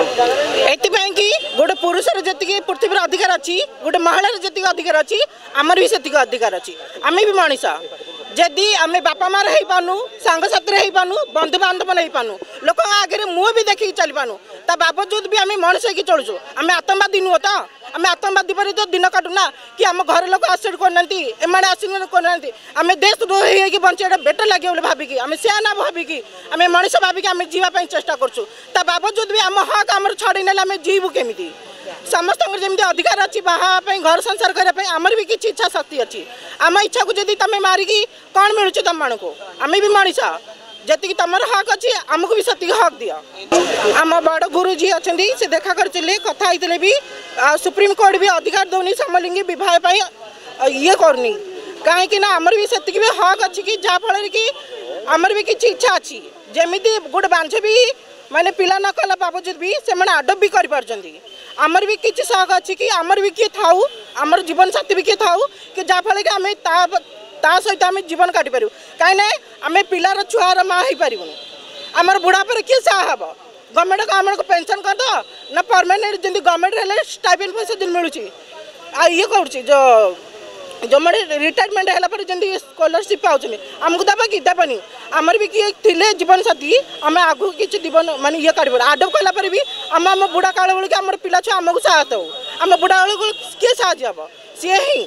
ଏଥିପାଇଁ କି ଗୋଟେ ପୁରୁଷର ଯେତିକି ପୃଥିବୀର ଅଧିକାର ଅଛି, ଗୋଟେ ମହିଳାର ଯେତିକି ଅଧିକାର ଅଛି, ଆମର ବି ସେତିକି ଅଧିକାର ଅଛି। ଆମେ ବି ମଣିଷ। ଯଦି ଆମେ ବାପା ମାଆର ହେଇପାରୁନୁ, ସାଙ୍ଗସାଥିରେ ହେଇପାରୁନୁ, ବନ୍ଧୁବାନ୍ଧବ ହେଇପାରୁନୁ, ଲୋକଙ୍କ ଆଗରେ ମୁହଁ ବି ଦେଖିକି ଚାଲିପାରୁନୁ, ତା ବାବଜୁଦ ବି ଆମେ ମଣିଷ ହେଇକି ଚଳୁଛୁ। ଆମେ ଆତଙ୍କବାଦୀ ନୁହଁ ତ? ଆମେ ଆତଙ୍କବାଦୀ ପରି ତ ଦିନ କାଟୁନା କି ଆମ ଘର ଲୋକ ଆକ୍ସେପ୍ଟ କରୁନାହାନ୍ତି, ଏମାନେ ଆସିଲେ କରୁନାହାନ୍ତି। ଆମେ ଦେଶ ଦ୍ରୋହୀ ହେଇକି ବଞ୍ଚିବାଟା ବେଟର ଲାଗିବ ବୋଲି ଭାବିକି, ଆମେ ସେୟା ନା ଭାବିକି, ଆମେ ମଣିଷ ଭାବିକି ଆମେ ଯିବା ପାଇଁ ଚେଷ୍ଟା କରୁଛୁ। ତା ବାବଜୁଦ ବି ଆମ ହକ୍ ଆମର ଛଡ଼େଇ ନେଲେ ଆମେ ଯିବୁ କେମିତି? ସମସ୍ତଙ୍କର ଯେମିତି ଅଧିକାର ଅଛି ବାହା ହେବା ପାଇଁ, ଘର ସଂସାର କରିବା ପାଇଁ, ଆମର ବି କିଛି ଇଚ୍ଛା ଶକ୍ତି ଅଛି। ଆମ ଇଚ୍ଛାକୁ ଯଦି ତମେ ମାରିକି କ'ଣ ମିଳୁଛି ତମମାନଙ୍କୁ? ଆମେ ବି ମଣିଷ। ଯେତିକି ତମର ହକ୍ ଅଛି, ଆମକୁ ବି ସେତିକି ହକ୍ ଦିଅ। ଆମ ବଡ଼ ଗୁରୁଜୀ ଅଛନ୍ତି, ସେ ଦେଖା କରିଥିଲେ, କଥା ହେଇଥିଲେ ବି। ଆଉ ସୁପ୍ରିମକୋର୍ଟ ବି ଅଧିକାର ଦେଉନି ସମଲିଙ୍ଗୀ ବିବାହ ପାଇଁ, ଇଏ କରୁନି। କାହିଁକି ନା ଆମର ବି ସେତିକି ବି ହକ୍ ଅଛି କି ଯାହାଫଳରେ କି ଆମର ବି କିଛି ଇଚ୍ଛା ଅଛି। ଯେମିତି ଗୋଟେ ବାନ୍ଧବୀ ମାନେ ପିଲା ନ କଲା ବାବଜୁଦ ବି ସେମାନେ ଆଡପ୍ଟ ବି କରିପାରୁଛନ୍ତି, ଆମର ବି କିଛି ସହକ ଅଛି କି ଆମର ବି କିଏ ଥାଉ, ଆମର ଜୀବନ ସାଥୀ ବି କିଏ ଥାଉ କି ଯାହାଫଳରେ କି ଆମେ ତା ସହିତ ଆମେ ଜୀବନ କାଟିପାରିବୁ। କାହିଁକିନା ଆମେ ପିଲାର ଛୁଆର ମା ହେଇପାରିବୁନି, ଆମର ବୁଢ଼ା ପରେ କିଏ ସାହା ହେବ? ଗଭର୍ଣ୍ଣମେଣ୍ଟ ଆମକୁ ପେନସନ୍ କରିଦେବ ନା ପରମାନେଣ୍ଟ, ଯେମିତି ଗଭର୍ଣ୍ଣମେଣ୍ଟ ହେଲେ ଷ୍ଟାଇପେଣ୍ଡ ପଇସା ଯେମିତି ମିଳୁଛି, ଆଉ ଇଏ କରୁଛି ଯେଉଁମାନେ ରିଟାୟାରମେଣ୍ଟ ହେଲା ପରେ ଯେମିତି ସ୍କଲାରସିପ୍ ପାଉଛନ୍ତି, ଆମକୁ ଦେବ କି ଦେବନି? ଆମର ବି କିଏ ଥିଲେ ଜୀବନସାଥୀ, ଆମେ ଆଗକୁ କିଛି ଜୀବନ ମାନେ ଇଏ କାଢ଼ିପାରୁ। ଆଡ଼ପ୍ଟ କଲା ପରେ ବି ଆମ ବୁଢ଼ା କାଳ ବେଳକୁ ଆମର ପିଲା ଛୁଆ ଆମକୁ ସାହାଯ୍ୟ ହଉ। ଆମ ବୁଢ଼ା ବେଳକୁ କିଏ ସାହାଯ୍ୟ ହେବ? ସିଏ ହିଁ।